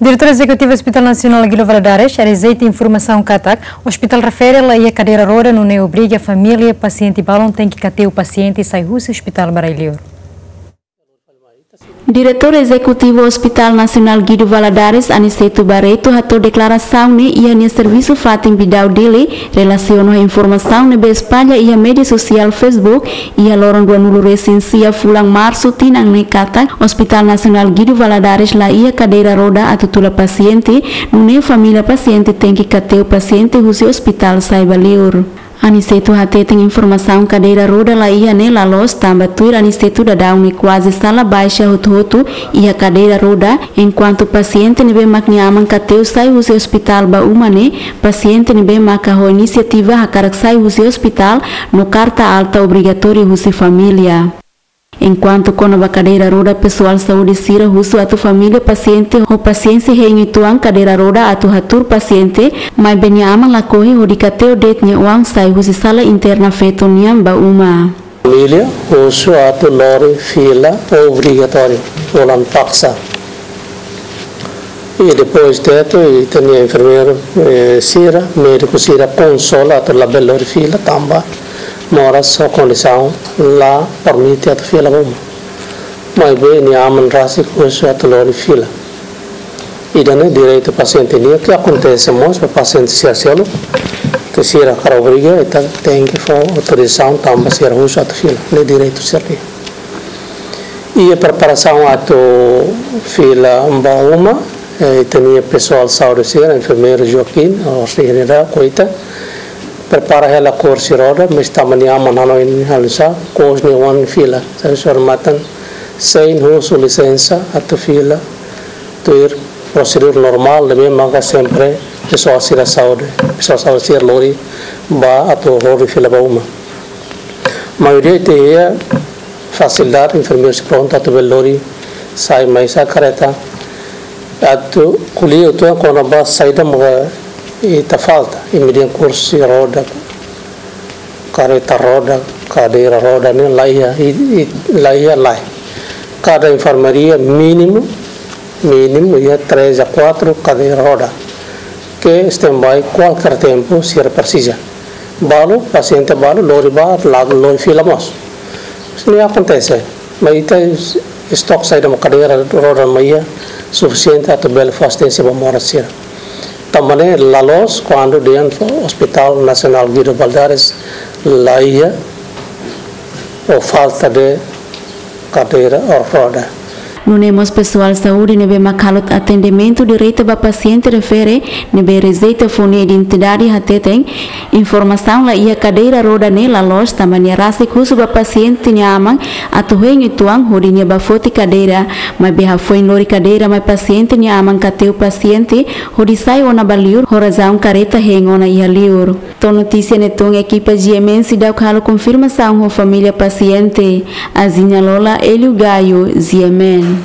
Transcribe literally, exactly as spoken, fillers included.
Diretór Ezekutivu Hospital Nasionál Guido Valadares rejeita informasaun katak ospitál refere la iha kadeira roda, nune'e obriga família pasiente balun tenke kateu pasiente sai husi ospitál ba rai-liur. Diretór Ezekutivu Hospital Nasionál Guido Valadares, Aniceto Barreto, hato'o deklarasaun ne'e iha nia servisu fatin Bidau Dili, relasiona ho informasaun ne'ebé espalla iha média sosiál Facebook iha loron ruanulu resin sia fulan Marsu tinan ne'e katak Hospital Nasionál Guido Valadares la iha kadeira roda atu tula pasiente, nune'e família pasiente tenke kateu pasiente husi ospitál sai ba liur. Aniceto hateten informasaun kadeira roda la iha ne'e la loos tanba tuir Aniceto daudaun ne'e kuaze sala baixa hotu-hotu iha kadeira roda, enkuantu pasiente ne'ebé mak nia aman kateu sai husi ospitál ba uma ne'e pasiente ne'ebé maka ho inisiativa hakarak sai husi ospitál no karta alta obrigatóriu husi família. Enkuantu kona-ba kadeira roda, pesoál saúde sira husu atu família pasiente ho pasiénsia hein uitoan kadeira roda atu hatuur pasiente, maibé nia aman lakohi hodi kateu de'it nia oan sai husi sala interna feto nian ba uma. Família husu atu lori fila obrigatóriu, holan paksa. I depois de ita-nia enfermeiru, eh, sira, médiku sira konsola atu labele lori fila tanba moras ho kondisaun la permite atu fila ba uma. Maibé nia aman rasik husu atu lori fila. Ida-ne'e direitu pasiente nian, ke akontese mós ba pasiente sira seluk, ke sira hakarak obriga, ita tenke fó autorizasaun tanba sira husu atu fila. Ne'e direitu sira nian. Iha preparasaun atu fila ba uma, eh, ita-nia pesoál saúde sira, enfermeiru Joaquim, o sira koita, prepara hela kursi roda, mas tanba nia aman hanoin halo sá, kous nia oan fila, sai sor matan, sein husu lisensa atu fila, tuir prosedura normál, ne'ebé maka sempre pesoál sira saúde, pesoál saúde sira lori ba atu lori fila ba uma. Maioria ita iha fasilidade, enfermeiru sei prontu atu bele lori sai mai sá kareta. Atu ko'alia uitoan kona-ba saida maka ita falta, i median kursi roda, kareta roda, kadeira roda ne'e la iha, i, i, la iha lai. Kada enfermaria mínimu, mínimu iha três a quatro kadeira roda ke standby kualkér tempu sira presiza. Balu, pasiente balu, lori ba, la lori fila mós. Ne'e akontese, mas ita es-, estok saida mak kadeira roda mak iha sufisiente atu bele fó asisténsia ba moras sira. Tanba ne'e la loos kuandu dehan Hospital Nasionál Guido Valadares la iha ou falta de kadeira roda. Nune'e mós pesoál saúde ne'ebé mak halo atendimentu direta ba pasiente refere ne'ebé rejeita fó nia identidade hateten, informasaun la iha kadeira roda ne'e la loos tanba nia rasik husu ba pasiente nia aman atu hein uitoan hodi nia bá foti kadeira, maibé hafoin lori kadeira mai pasiente nia aman kateu pasiente hodi sai ona ba liur ho razaun kareta hein ona iha liur. To'o notísia ne'e tun ekipa G M N seidauk halo konfirmasaun ho família pasiente. Aziña Lola, Elio Gayo, G M N.